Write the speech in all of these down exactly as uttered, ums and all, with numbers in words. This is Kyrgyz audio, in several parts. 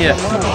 Премьер.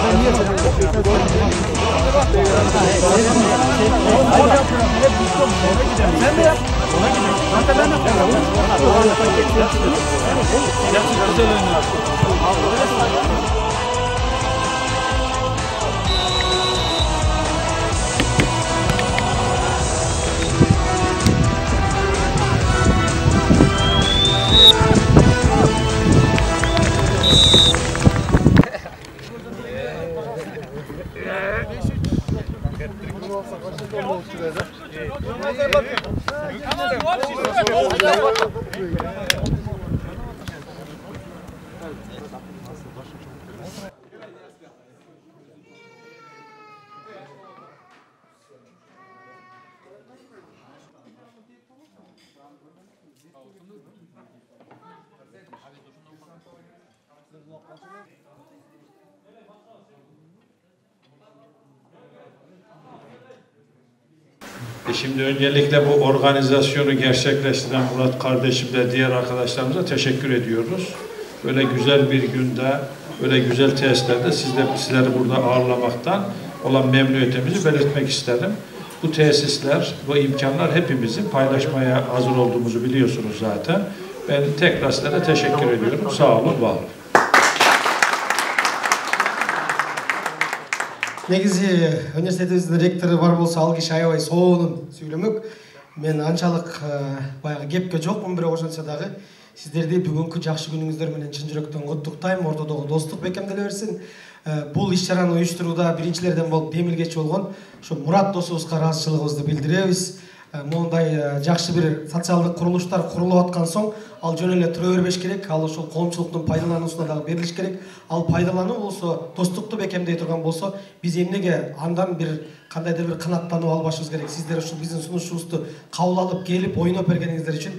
Şimdi öncelikle bu organizasyonu gerçekleştiren Murat kardeşimle diğer arkadaşlarımıza teşekkür ediyoruz. Böyle güzel bir günde, böyle güzel tesislerde sizler, sizleri burada ağırlamaktan olan memnuniyetimizi belirtmek isterim. Bu tesisler, bu imkanlar hepimizin paylaşmaya hazır olduğumuzu biliyorsunuz zaten. Ben tekrar sizlere teşekkür ediyorum. Sağ olun, var olun. Негизи университетибиздин ректору бар болсо ал киши аябай соонун сүйлөмөк. Мен анчалык баягы кепке жокмун, бирок ошентсе дагы сиздерди бүгүнкү жакшы күнүңүздөр менен чын жүрөктөн куттуктайм. Ортодогу достук бекемделе берсин. Бул иш-чараны уюштурууда биринчилерден болуп демилгечи болгон ушу Мурат досубузга ыраазычылыгыбызды билдиребиз. Мондай жакшы бир социалдык курулуштар курулуп аткан соң ал жөн эле тура бербеш керек, ал ошол коомчулуктун пайдалануусуна дагы берилиш керек. Ал пайдалануу болсо, достукту бекемдей турган болсо, биз эмнеге андан бир кандайдыр бир канааттануу албашыбыз керек. Сиздер ушул биздин сунушубузду кабыл алып келип ойноп бергениңиздер үчүн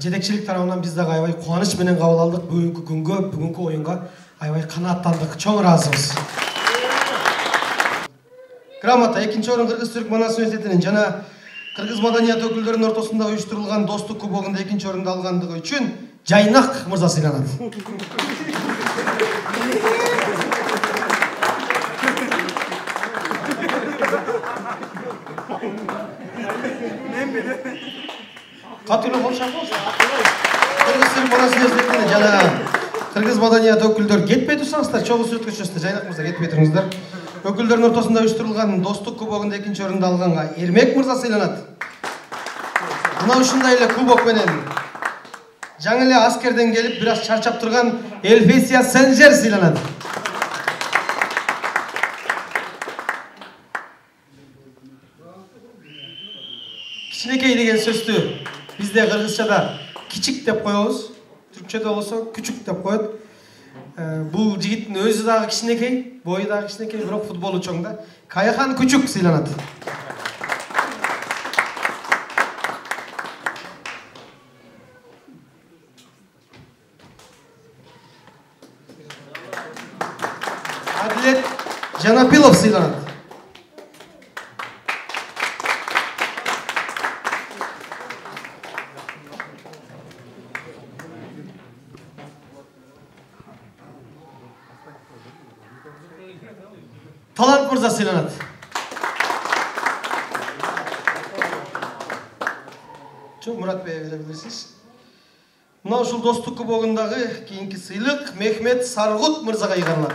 жетекчилик тарабынан биз дагы аябай кубаныч менен кабыл алдык. Бүгүнкү күнгө, бүгүнкү оюнга аябай канааттандык. Чоң ыраазыбыз. Грамота экинчи орун Кыргыз Түрк Манас университетинин жана Кыргыз маданият өкүлдөрүнүн ортосунда уюштурулган достук кубогунда экинчи орунду алгандыгы үчүн Жайнак мырза сыйланат. Катуу болсоң болсун. Кыргыз Түрк Манас университетинин жана Кыргыз маданият өкүлдөр кетпей турсаңыздар, чогуу сүрөткө түшөсүздөр. Жайнак мырза кетпей туруңуздар. Өкүлдөрдүн ортосунда уюштурулган достук кубогунда экинчи орунду алганга Эрмек мырза сыйланат. Мына ушундай эле кубок менен жаңы эле аскерден келип бир аз чарчап турган Эльфесия Сенжер сыйланат. Кичинекей деген сөздү бизде кыргызчада кичик деп коебуз, түркчөдө болсо күчүк деп коет. Бул жигиттин өзү дагы кичинекей, бою дагы кичинекей, бирок футболу чоң да. Каяхан Күчүк сыйланат. Адилет Жанапилов сыйланат. Талант мырза сыйланат. Чоң Мурат бей бере билесиз. Мына ушул достук кубогундагы кийинки сыйлык Мехмет Саргут мырзага ыйгарылат.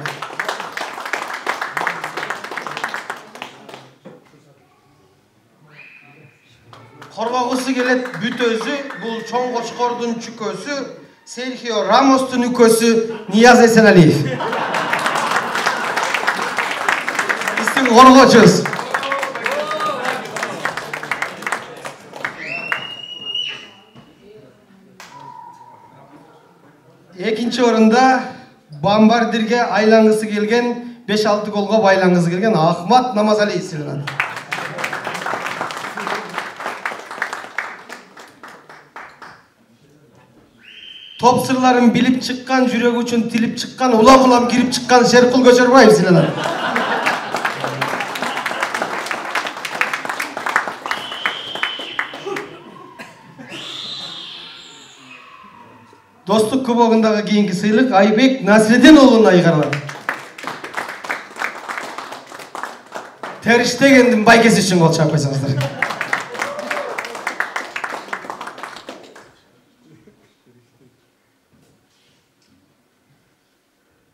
Коргогусу келет бүтөзү, бул чоң кочкордун чүкөсү, Серхио Рамостун үкөсү Нияз Эсеналиев. Биздин коргочубуз. Экинчи орунда бомбардирге айлангысы келген, беш алты голго байлангысы келген Ахмат Намазалиев сыйланат. Топ сырларын билип чыккан, жүрөгү үчүн тилип чыккан, улам-улам кирип чыккан Шеркул Көчөрбаев сыйланат. Достук кубогундагы кийинки сыйлык Айбек Насредин уулуна ыйгарылат. Териштегендин байкеси үчүн кол чаап койсоңуздар.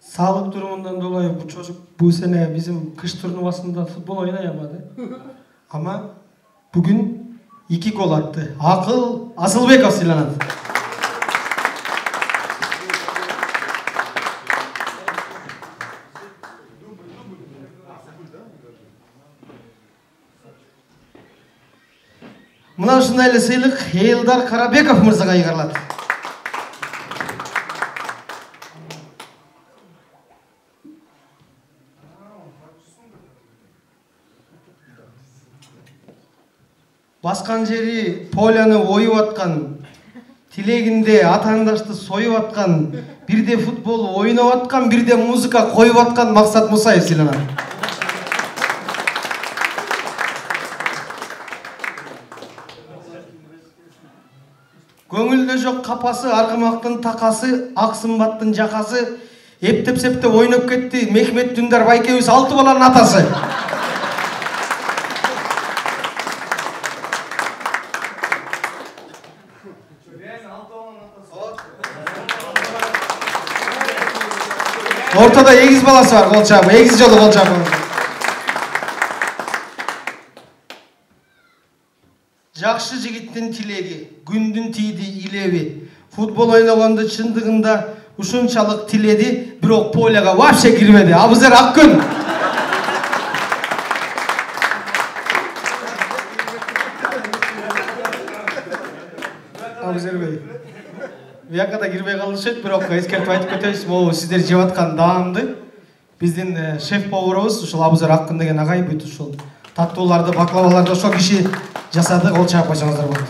Sağlık durumundan dolayı bu çocuk bu sene bizim kış turnuvasında futbol oynayamadı. Ama bugün iki gol attı. Akıl Asılbekov silahlandı. Mına ушундай эле сыйлык Эйлдар Карабеков мырзага ыйгарылат. Баскан жери поляны оюп аткан, тилегинде атаандашты союп аткан, бирде футбол ойноп аткан, бирде музыка коюп аткан Максат Мусаев сыйланат. Көңүлдө жок капасы, аргымактын такасы, ак сымбаттын жакасы, эптеп-септеп ойноп кетти Мехмет Дүндар байкебиз алты баланын атасы. Ортада эгиз баласы бар, кол чаап, эгиз жолу кол чаап. Жакшы жигиттин тилеги, күндүн тийди илеби. Футбол ойногонду чындыгында ушунчалык тиледи, бирок поляга вообще кирбеди. Абузер Аккүн. Абузер бей. Буяка да кирбей калышат, бирок эскертип айтып кетебиз, могу сиздер жеп аткан даамды биздин шеф поварыбыз ушул Абузер Аккүн деген агай бүт ушул таттууларды, баклаваларды ошол киши жасады, кол чаап койсоңуздар болот.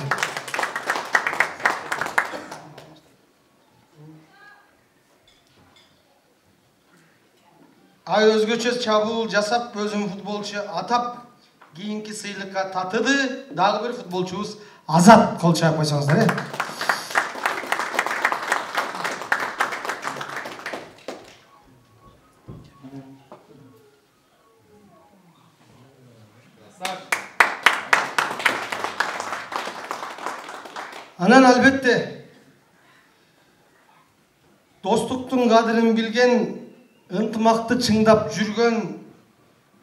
Ай өзгөчө чабуул жасап, өзүн футболчу атап, кийинки сыйлыкка татыды, дагы бир футболчубуз Азат, кол чаап койсоңуздар, э? Анан албетте достуктун кадырын билген, ынтымакты чыңдап жүргөн,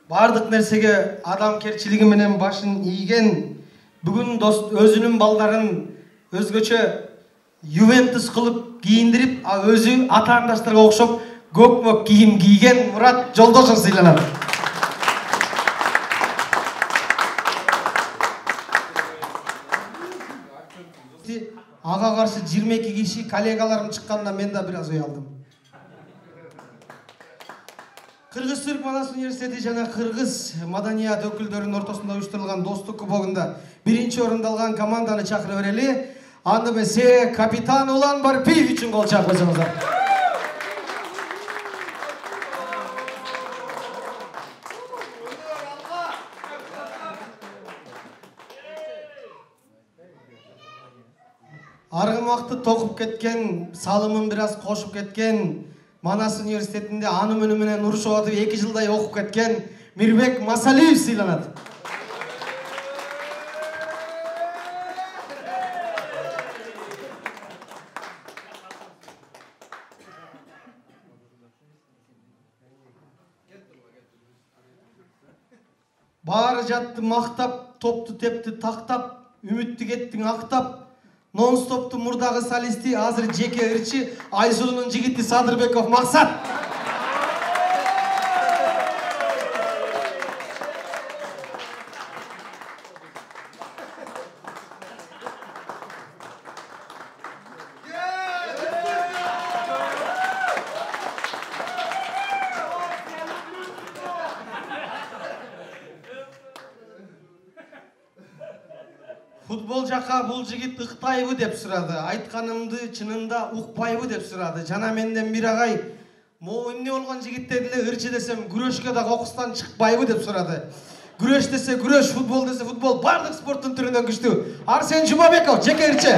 бардык нерсеге адамкерчилиги менен башын ийген, бүгүн өзүнүн балдарын өзгөчө Ювентус кылып кийиндирип, өзү атаандаштарга окшоп көк-мөк кийим кийген Мурат Жолдошов сыйланат. Ага каршы жыйырма эки киши коллегаларым чыкканда мен да бир аз ой алдым. Кыргыз Түрк Манас университети жана кыргыз маданият өкүлдөрүнүн ортосунда уюштурулган достук кубогунда биринчи орунду алган команданы чакырып берели. Аны эмесе капитан Улан Барпиев үчүн кол чаап койсоңуздар. Аргымакты токуп кеткен, салымын бир аз кошуп кеткен, Манас университетинде анын менен урушуп атып эки жылдай окуп кеткен Мирбек Масалиев сыйланат. Баары жатты мактап, топту тепти тактап, үмүттү кеттиң актап. Нон-стоптун мурдагы солисти, азыр жеке ырчы, Айсулунун жигити Садырбеков Максат. Футбол жака бул жигит ыктайбы деп сурады. Айтканымды чынында укпайбы деп сурады. Жана менден бир агай, могу эмне болгон жигиттер деле ырчы десем, күрөшкө да кокустан чыкпайбы деп сурады. Күрөш десе күрөш, футбол десе футбол, бардык спорттун түрүнөн күчтүү. Арсен Жумабеков, жеке ырчы.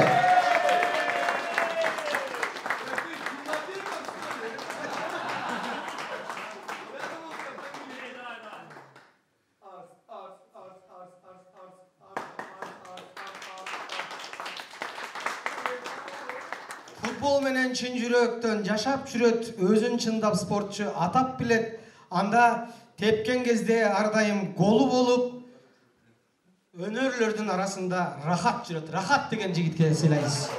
футбол менен чын жүрөктөн жашап жүрөт, өзүн чындап спортчу атап билет. Анда тепкен кезде ар дайым голу болуп, өнөрлөрдүн арасында рахат жүрөт. Рахат деген жигитке сыйлайбыз.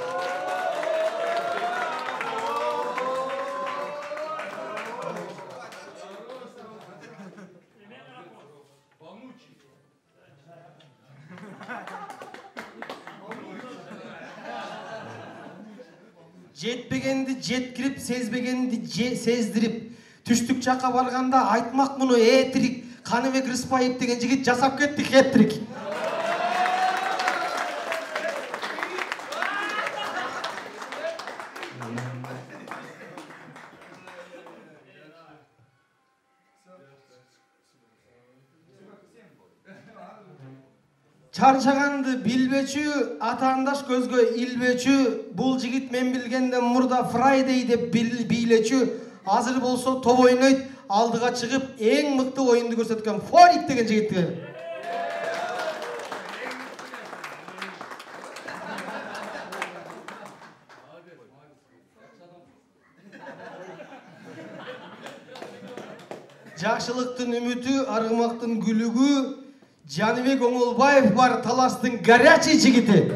Жетпегенди жеткирип, сезбегенди сездирип, түштүк жакка барганда айтмак муну этрик, Каныбек Рыспаев деген жигит жасап кетти хет-трик. Чарчаганды билбечү, атаандаш көзгө илбечү, бул жигит мен билгенден мурда Friday деп бийлечү, азыр болсо топ ойнойт, алдыга чыгып эң мыкты оюнду көрсөткөн Форик деген жигитти. Жакшылыктын үмүтү, аргымактын күлүгү, Жаныбек Оңолбаев бар, Таластын горячий жигити.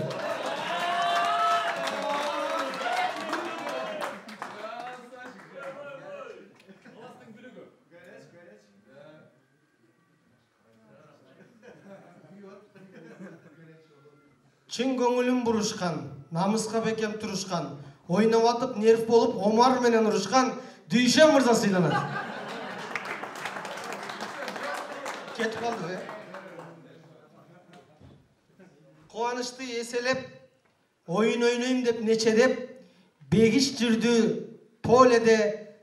Чын көңүлүн бурушкан, намыска бекем турушкан, ойноп атып нерв болуп Омар менен урушкан Дүйшен мырза сыйланат. Кетип калды, э? Кубанычты эселеп, оюн ойнойм деп нечедеп, бегиш жүрдү поледе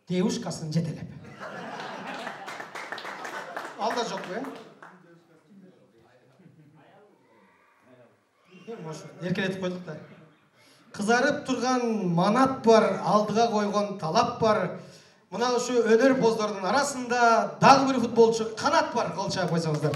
девушкасын жетелеп. Алда жок бе? Эркелетип койдук да. Кызарып турган манат бар, алдыга койгон талап бар. Мына ушу өнөр боздордун арасында дагы бир футболчу Канат бар, кол чаап койсоңуздар.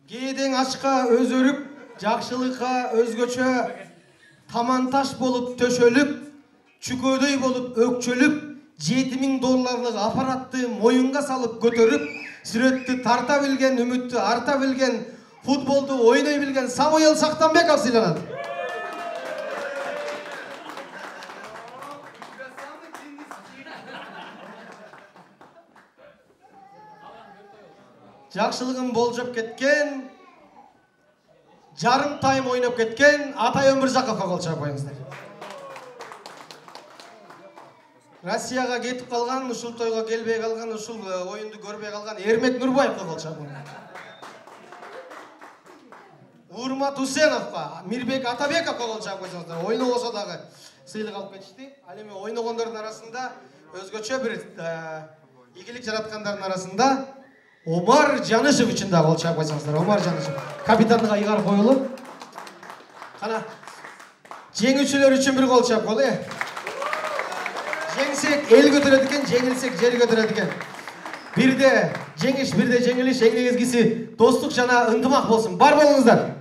Кээдең ачка өзөрүп, жакшылыкка өзгөчө таманташ болуп төшөлүп, чүкөдөй болуп өкчөлүп, жети миң долларлык аппаратты моюнга салып көтөрүп, сүрөттү тарта билген, үмүттү арта билген, футболду ойной билген Самуил Сактанбеков сыйланат. Жакшылыгын болжоп кеткен, жарым тайм ойноп кеткен Атай Өмүржаковго кол чаап коюңуздар. Россияга кетип калган, ушул тойго келбей калган, ушул оюнду көрбөй калган Эрмек Нурбаевго кол чаап коюңуздар. Урмат Усеновго, Мирбек Атабековго кол чаап койсоңуздар. Ойнобосо дагы сыйлык алып кетишти. Ал эми ойногондордун арасында өзгөчө бир ийгилик жараткандардын арасында Омар Жанышев үчүн да кол чаап койсоңуздар. Омар Жанышев капитандыга ыйгар коюлуп. Кана жеңүүчүлөр үчүн бир кол чаап коелу, э. Жеңсек эл көтөрөт экен, жеңилсек жер көтөрөт экен. Бирде жеңиш, бирде жеңилиш, эң негизгиси достук жана ынтымак болсун. Бар болуңуздар.